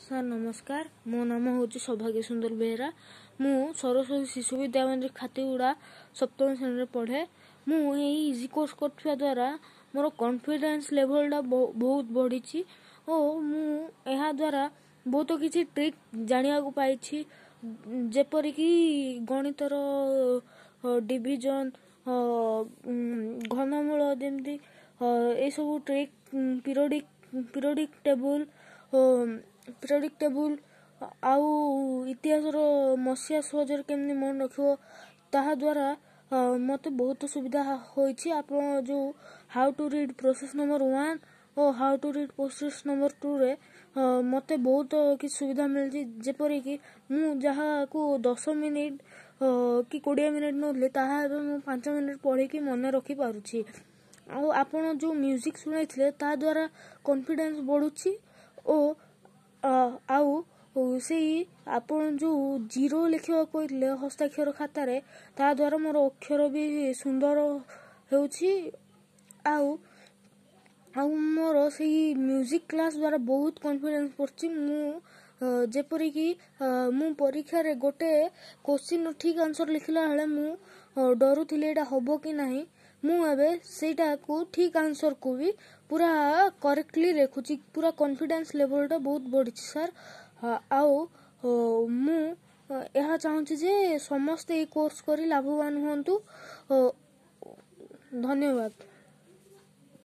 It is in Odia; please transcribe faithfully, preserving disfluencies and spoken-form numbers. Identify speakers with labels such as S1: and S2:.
S1: ସାର୍ ନମସ୍କାର ମୋ ନାମ ହେଉଛି ସୌଭାଗ୍ୟ ସୁନ୍ଦର ବେହେରା ମୁଁ ସରସ୍ୱତୀ ଶିଶୁ ବିଦ୍ୟା ମନ୍ଦିର ଖାତିଗୁଡ଼ା ସପ୍ତମ ଶ୍ରେଣୀରେ ପଢ଼େ ମୁଁ ଏଇ ଇଜି କୋର୍ସ କରୁଥିବା ଦ୍ୱାରା ମୋର କନଫିଡେନ୍ସ ଲେଭେଲଟା ବହୁତ ବଢ଼ିଛି ଓ ମୁଁ ଏହା ଦ୍ୱାରା ବହୁତ କିଛି ଟ୍ରିକ୍ ଜାଣିବାକୁ ପାଇଛି ଯେପରିକି ଗଣିତର ଡିଭିଜନ ଘନମୂଳ ଯେମିତି ଏସବୁ trick periodic periodic table periodic table ଆଉ ଇତିହାସର ମସିହା ସହଜରେ କେମିତି ମନେ ରଖିବ ତାହା ଦ୍ୱାରା ମୋତେ ବହୁତ ସୁବିଧା ହୋଇଛି ଆପଣ ଯେଉଁ how to read process number one O how to read process number ଟୁରେ ମୋତେ ବହୁତ କିଛି ସୁବିଧା ମିଳିଛି ଯେପରିକି ମୁଁ ଯାହାକୁ ଦଶ ମିନିଟ୍ କି କୋଡ଼ିଏ ମିନିଟ୍ ନେଉଥିଲି ତାହା ଏବେ ମୁଁ ପାଞ୍ଚ ମିନିଟ୍ ପଢ଼ିକି ମନେ ରଖିପାରୁଛି ଆଉ ଆପଣ ଯେଉଁ ମ୍ୟୁଜିକ୍ ଶୁଣାଇଥିଲେ ତା ଦ୍ୱାରା କନଫିଡେନ୍ସ ବଢ଼ୁଛି ଓ ଆଉ ସେଇ ଆପଣ ଯେଉଁ ଜିରୋ ଲେଖିବାକୁ କହିଥିଲେ ହସ୍ତାକ୍ଷର ଖାତାରେ ତା ଦ୍ୱାରା ମୋର ଅକ୍ଷର ବି ସୁନ୍ଦର ହେଉଛି ଆଉ ଆଉ ମୋର ସେଇ ମ୍ୟୁଜିକ୍ କ୍ଲାସ୍ ଦ୍ୱାରା ବହୁତ କନଫିଡେନ୍ସ ବଢ଼ୁଛି ମୁଁ ଯେପରିକି ମୁଁ ପରୀକ୍ଷାରେ ଗୋଟେ କୋଶ୍ଚିନ୍ର ଠିକ୍ ଆନ୍ସର୍ ଲେଖିଲା ବେଳେ ମୁଁ ଡରୁଥିଲି ଏଇଟା ହବ କି ନାହିଁ ମୁଁ ଏବେ ସେଇଟାକୁ ଠିକ୍ ଆନ୍ସର୍କୁ ବି ପୁରା କରେକ୍ଟଲି ଲେଖୁଛି ପୁରା କନଫିଡେନ୍ସ ଲେଭେଲଟା ବହୁତ ବଢ଼ିଛି ସାର୍ ଆଉ ମୁଁ ଏହା ଚାହୁଁଛି ଯେ ସମସ୍ତେ ଏଇ କୋର୍ସ କରି ଲାଭବାନ ହୁଅନ୍ତୁ ଧନ୍ୟବାଦ